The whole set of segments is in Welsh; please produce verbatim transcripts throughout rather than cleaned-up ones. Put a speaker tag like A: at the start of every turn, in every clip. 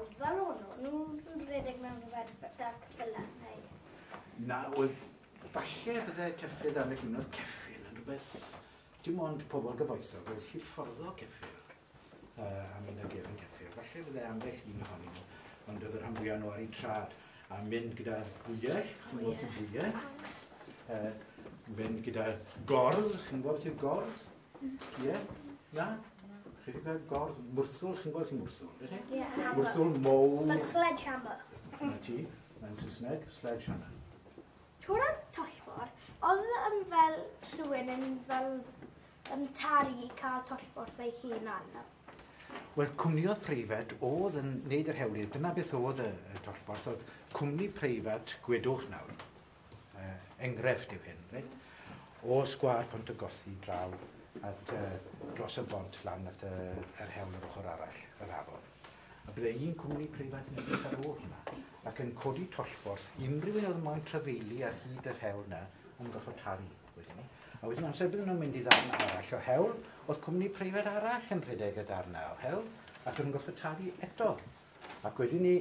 A: pawb fel o'n nhw? Nhw'n rhedeg mewn rhywbeth da ceffylau neu?
B: Na, oedd falle bydde ceffyl ambell un, oedd ceffyl yn rhywbeth, dim ond pobl gyfoethog oedd gallu fforddo ceffyl uh, a mynd ag ef yn ceffyl. Falle bydde ambell un ohonyn nhw, ond oedd y rhan fwyaf nhw ar eu trad a mynd gyda bwyell, chi'n gwybod beth yw bwyell? Uh, mynd gyda gordd, chi'n gwybod beth yw gordd? Ie? Yeah? Na? Chi wedi gweld gordd? Mwrthwl, chi'n gwybod beth yw mwrthwl, ydych chi?
A: Ie, hammer.
B: Mwrthwl mowr.
A: Fel sledgehammer.
B: Na ti, mae'n Saesneg, sledgehammer.
A: Trwy'r tollborth, oedd yn fel rhywun yn fel yn talu i cael tollborth ei hunan?
B: Wel, cwmniodd preifat oedd yn neud yr hewlydd. Dyna beth oedd y, y tollborth. Oedd cwmni preifat, gwedwch nawr, uh, enghraifft yw hyn, reit? O sgwâr Pont y Gothi draw at, uh, dros y bont lan at uh, yr hewl yr ochr arall, yr afon. A bydde un cwmni preifat yn edrych ar ôl hwnna ac yn codi tollborth unrhyw un oedd moyn trafeili ar hyd yr hewl na yn gorfod talu wedyn ni. A wedyn amser bydden nhw'n mynd i ddarn arall o hewl, oedd cwmni preifat arall yn rhedeg y darn o hewl, ac o'n nhw'n gorfod talu eto. Ac wedyn ni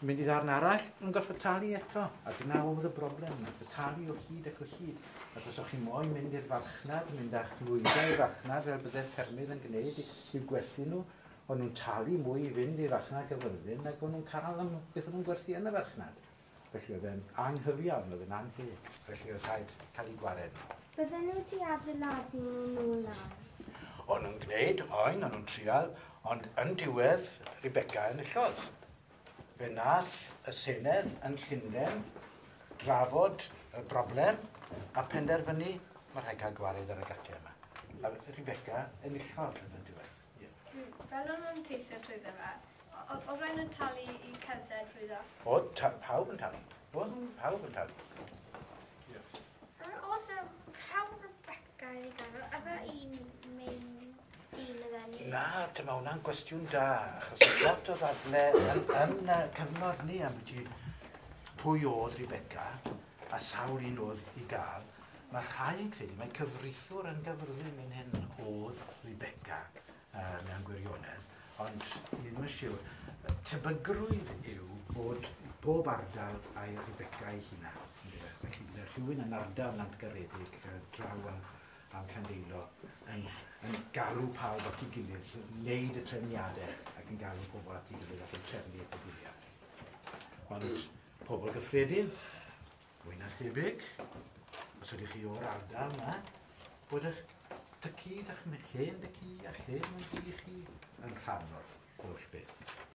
B: mynd i ddarn arall, o'n nhw'n gorfod talu eto. A dyna oedd y broblem, gorfod talu o hyd ac o hyd. Ac os o'ch chi moyn mynd i'r farchnad, mynd â'ch nwyddau i'r farchnad fel bydde ffermydd yn gwneud i'w gwerthu nhw, o'n nhw'n talu mwy i fynd i'r farchnad Gaerfyrddin nag o'n nhw'n cael am beth o'n nhw'n gwerthu yn y farchnad. Felly oedd e'n anghyfiawn, oedd e'n annheg. Felly oedd rhaid cael ei gwared nhw.
C: Bydden nhw wedi adeiladu nhw lawr?
B: O'n nhw'n gwneud, oen, o'n nhw'n trial, ond yn diwedd, Rebecca enillodd. Fe nath y Senedd yn Llundain drafod y broblem a penderfynu mae rhaid cael gwared ar y gatiau yma. A Rebecca enillodd yn y diwedd. Yeah.
D: Fel o'n nhw'n teithio trwyddo fe, oedd rhaid yn talu i cerdded trwyddo?
B: Oedd, pawb yn talu. Oedd, pawb yn talu. Yeah.
A: Oedd sawl Rebecca i gael, efo un main dyn oedd enw?
B: Na, dyma hwnna'n gwestiwn da, achos oedd lot o ddadle yn, yn y cyfnod ni am beth pwy oedd Rebecca a sawl un oedd i gael. Mae rhai yn credu, mae cyfreithiwr yn Gaerfyrddin yn hyn oedd Rebecca uh, mewn gwirionedd, ond ni ddim yn siŵr. Tebygrwydd yw bod bob ardal a'i Rebecca ei hunan. Felly bydde rhywun yn ardal Nantgaredig draw am, am Llandeilo yn, yn galw pawb at ei gilydd, wneud y trefniadau ac yn galw pobl at ei gilydd ac yn trefnu y digwyddiad. Ond pobl gyffredin, mwy na thebyg, os ydych chi o'r ardal yma, bod eich tad-cu a'ch hen dad-cu a'ch hen mam-gu chi yn rhan o'r holl beth.